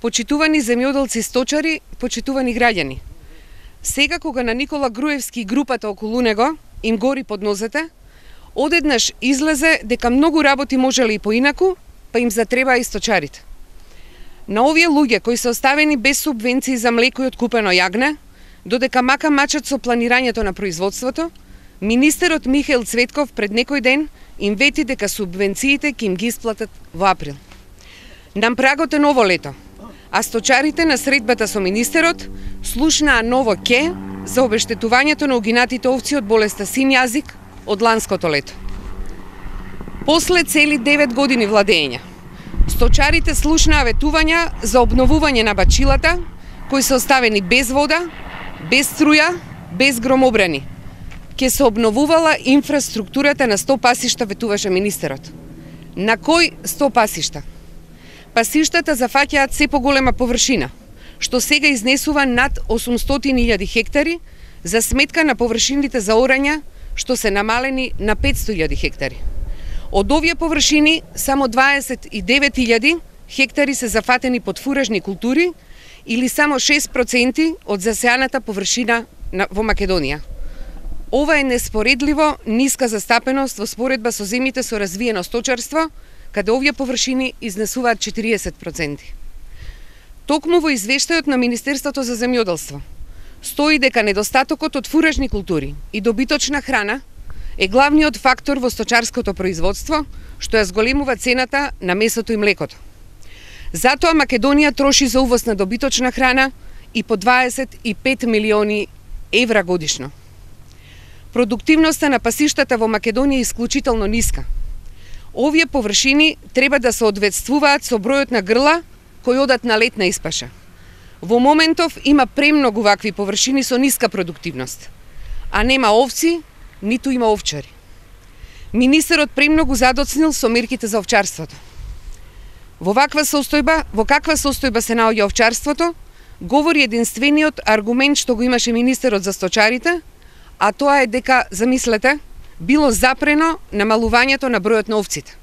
Почитувани земјоделци сточари, почитувани граѓани. Сега кога на Никола Груевски и групата околу него им гори под нозете, одеднаш излезе дека многу работи можеле и поинаку, па им затребаа и сточарите. На овие луѓе кои се оставени без субвенции за млеко и откупено јагне, додека мака мачат со планирањето на производството, министерот Михаил Цветков пред некој ден им вети дека субвенциите ќе им ги исплатат во април. На прагот е ново лето, а сточарите на средбата со министерот слушнаа ново ке за обештетувањето на угинатите овци од болеста син јазик од ланското лето. После цели 9 години владење, сточарите слушнаа ветувања за обновување на бачилата, кои се оставени без вода, без струја, без громобрани. Ке се обновувала инфраструктурата на 100 пасишта, ветуваше министерот. На кој 100 пасишта? Пасиштата зафаќаат се поголема површина, што сега изнесува над 800.000 хектари за сметка на површините за орање, што се намалени на 500.000 хектари. Од овие површини, само 29.000 хектари се зафатени под фуражни култури или само 6% од засеаната површина во Македонија. Ова е неспоредливо ниска застапеност во споредба со земјите со развиено сточарство, каде овие површини изнесуваат 40%. Токму во извештајот на Министерството за земјоделство стои дека недостатокот од фуражни култури и добиточна храна е главниот фактор во сточарското производство, што ја зголемува цената на месото и млекото. Затоа Македонија троши за увоз на добиточна храна и по 25 милиони евра годишно. Продуктивноста на пасиштата во Македонија е исклучително ниска. Овие површини треба да се одветствуваат со бројот на грла кои одат на летна испаша. Во моментов има премногу вакви површини со ниска продуктивност, а нема овци, ниту има овчари. Министерот премногу задоцнил со мерките за овчарството. Во каква состојба се наоѓа овчарството, говори единствениот аргумент што го имаше министерот за сточарите, а тоа е дека, замислете, било запрено намалувањето на бројот на овците.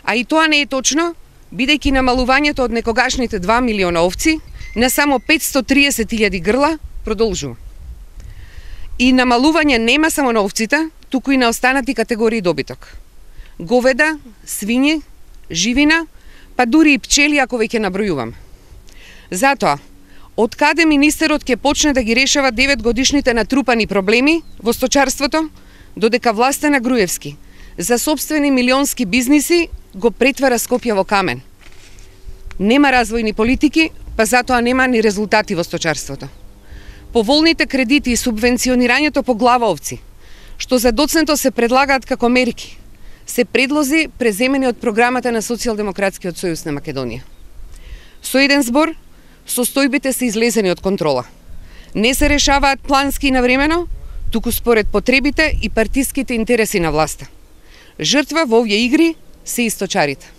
А и тоа не е точно, бидејќи намалувањето од некогашните 2 милиона овци на само 530.000 грла продолжува. И намалување нема само на овците, туку и на останати категории добиток. Говеда, свињи, живина, па дури и пчели ако веќе набројувам. Затоа, од каде министерот ќе почне да ги решава 9 годишните натрупани проблеми во сточарството, додека власта на Груевски за сопствени милионски бизниси го претвара Скопје во камен. Нема развојни политики, па затоа нема ни резултати во сточарството. Поволните кредити и субвенционирањето по глава овци, што за доцнето се предлагаат како мерки, се предлози преземени од програмата на Социјалдемократскиот сојуз на Македонија. Со еден збор, состојбите се излезени од контрола. Не се решаваат плански и навремено, туку според потребите и партиските интереси на власта. Жртва во овие игри се и сточарите.